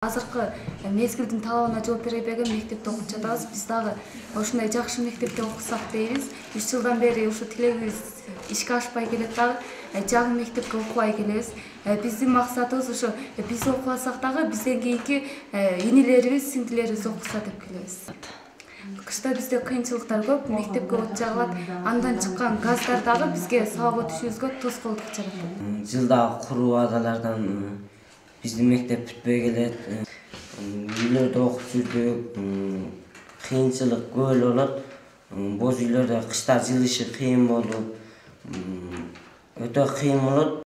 Азыркы мезгилдин талабына жооп бере берген мектепте окуп жатабыз. Биз дагы ушундай жакшы мектепте окусак дейбиз. 3 жылдан бери ушу тилегибиз ишке ашпай келет дагы. Жаңы мектепке окубай келебиз. Биздин максатыбыз ушу биз окубасак дагы бизден кийинки инилерибиз, сиңдилерибиз окуса деп келебиз. Кышта бизде кыйынчылыктар көп, мектепке от жагылат. Андан чыккан газдар дагы бизге сабакка түшүүбүзгө тоскоолдук жаратат. Жылдагы куруу адалардан биздин мектеп бүтпөй келет. Үйлөрдө окуп жүрдүк. Кыйынчылык көп эле болот. Боз үйлөрдө кышта жылышы кыйын болуп, өтө кыйын болот.